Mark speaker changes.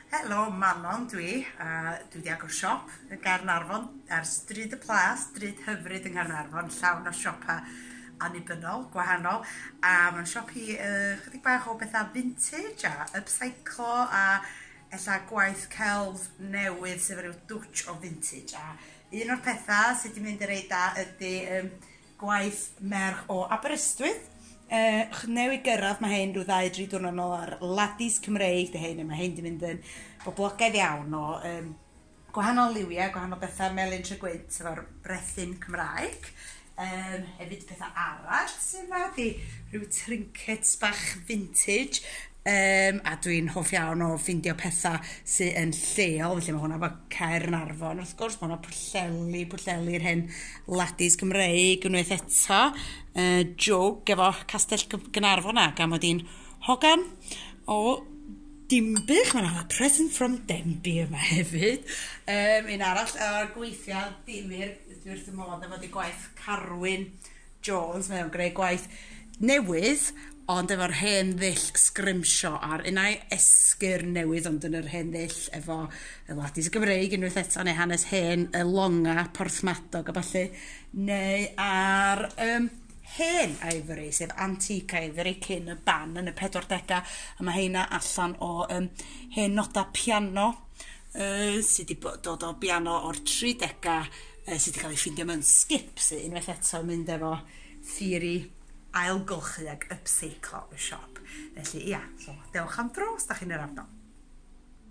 Speaker 1: Helo, Manon dwi, a dwi 'di agor siop yn Gaernarfon ar Stryd y Plas, stryd hyfryd yng Nghaernarfon, llawn o siopa annibynnol, gwahanol, a mae'n siop hi chydig bach o bethau vintage a upcyclo a ella gwaith celf newydd sydd efo ryw dwtch o vintage. A un o'r pethau sydd wedi mynd yn reit da ydy gwaith merch o Aberystwyth. Newydd gyrraedd, mae hein rhyw 2-3 diwrnod nôl ar Ladis Cymreig, dy hein, a mae hein 'di mynd yn boblogaidd iawn o gwahanol liwiau, gwahanol bethau, melyn Tregwynt efo'r brethyn Cymraeg. Hefyd pethau arall sydd yma, di rhyw trinkets bach vintage. A dwi'n hoff iawn o ffindio pethau sydd yn lleol, felly mae hwnna efo Caernarfon, wrth gwrs, mae hwnna Pwllheli, Pwllheli'r hen ladis Cymreig unwaith eto. Jwg efo Castell Gaernarfon a gan mod i'n hogan o Dinbych, mae yna present from Denby yma hefyd. Un arall o'r gweithiau difyr, dwi wrth y modd efo di gwaith Carwyn Jones, mae o'n greu gwaith newydd, ond efo'r hen ddull sgrimsio ar unai esgyrn newydd, ond yn yr hen ddull efo y ladis Gymreig unwaith eto, neu hanes hen y longa Porthmadog a ballu, neu ar hen ivory, sef antique ivory cyn y ban yn y 40au, a mae heina allan o hen noda piano sydd wedi dod o biano o'r 30au sydd wedi cael ei ffindio mewn skip, sydd unwaith eto yn mynd efo theori ailgylchu ac upcyclo y siop. Felly ia, so dewch am dro os da chi'n yr ardal.